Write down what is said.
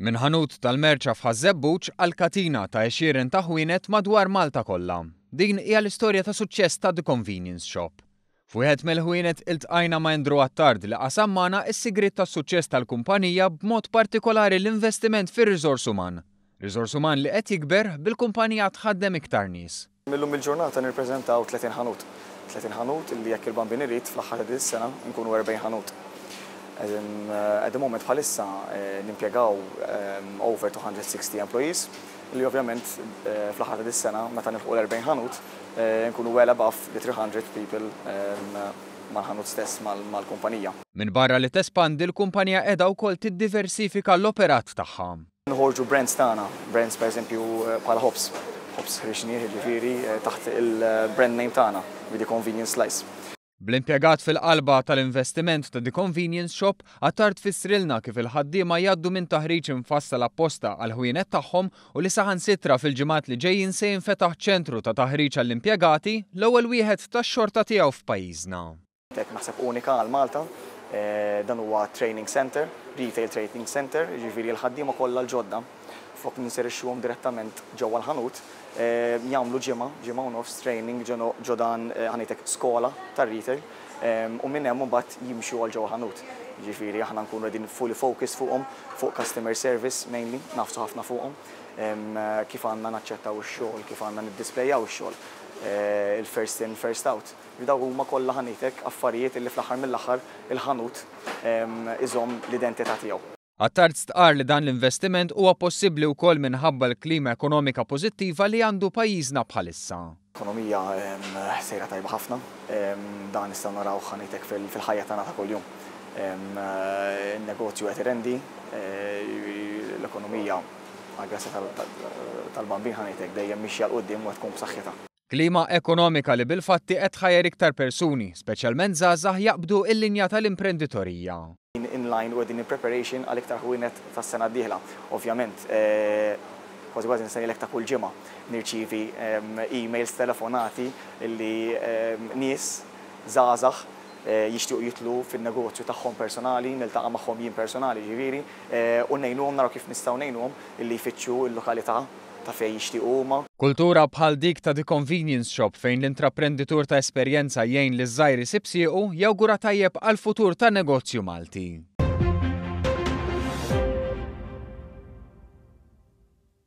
Minn ħanut tal-merċa f'Ħaż-Żebbuġ għal katina ta' għexieren ta' ħwienet madwar Malta kollha. Din hija l-istorja ta' suċċess ta' The Convenience Shop. F'wieħed mill-ħwienet iltqajna ma' Andrew Attard li qasam magħna s-sigriet tas-suċċess tal-kumpanija b'mod partikolari l-investiment fir-riżors uman. Riżors uman li qed jikber bil-kumpanija tħaddem iktar nies. Illum il-ġurnata nirpreżentaw 30 ħanut. 30 ħanut illi jekk il-Bambin irid fl-aħħar ta' din is-sena nkunu 40 ħanut. At the moment bħalissa nimpjegaw over 260 employees illi ovvjament fl-aħħar ta' dis-sena meta nilħqu l-40 ħanut nkunu well above the 300 people mal-ħanut stess mal-kumpanija. Minbarra li tespandi l-kumpanija qiegħda wkoll tiddiversifika l-operat tagħha. Noħorġu brands tagħna, brands pereżempju bħala Hops, Hops ħriġnieh jiġifieri taħt il-brand name tagħna, The Convenience Slice. Bl-impjegat fil-qalba tal-investiment ta' The Convenience Shop, Attard fissrilna kif il-ħaddiema jgħaddu minn taħriġ imfassal apposta għall-ħwienet tagħhom u li saħansitra fil-ġimgħat li ġejjin se jinfetaħ ċentru ta' taħriġ għall-impjegati, l-ewwel wieħed tax-xorta tiegħu f'pajjiżna. Hekk naħseb unika għal Malta. Dan huwa training centre, retail training centre, jiġifieri l-ħaddiema kollha l-ġodda flok ninserixxuhom direttament ġewwa l-ħanut, jagħmlu ġimgħa, ġimgħa u nofs training ġo dan ħa ngħidlek skola tar-retail u minn hemm imbagħad jimxu għal ġewwa ħanut. Jiġifieri aħna nkunu qegħdin fully focused fuqhom, fuq customer service mainly, nagħfsu ħafna fuqhom, kif għandna naċċettaw ix-xogħol, kif għandna niddisplejaw ix-xogħol, il-first in, first out. Li dawk huma kollha ħanitek affarijiet illi fl-aħħar mill-aħħar il-ħanut iżomm l-identità tiegħu. Attard stqarr li dan l-investiment huwa possibbli wkoll minħabba l-klima ekonomika pożittiva li għandu pajjiżna bħalissa. L-ekonomija sejra tajba ħafna. Dan nistgħu narawh ħanitek fil-ħajja tagħna ta' kuljum. In-negozju qed irendi, l-ekonomija għall-grazzja tal-Bambin ħanitek dejjem mixja 'l quddiem u qed tkun b'saħħitha. Klima ekonomika li bil-fatti qed tħajjar iktar persuni, speċjalment żgħażagħ jaqbdu l-linja tal-imprenditorija. In line u qegħdin in preparation għal iktar ħwienet tas-sena d-dieħla. Ovvjament, kważi kważi nista' ngħidlek ta' kull ġimgħa nirċievi emails, telefonati li nies żgħażagħ jixtiequ jidħlu fin-negozju tagħhom personali, niltaqa' magħhom jien personali jiġifieri, u ngħinuhom naraw kif nistgħu ngħinuhom illi jfittxu l-lokalità ta' fejn jixtiequ huma. Kultura bħal dik ta' The Convenience Shop fejn l-intraprenditur ta' esperjenza jgħin liż-żgħir isib siequ jawgura tajjeb għall-futur tan-negozju Malti.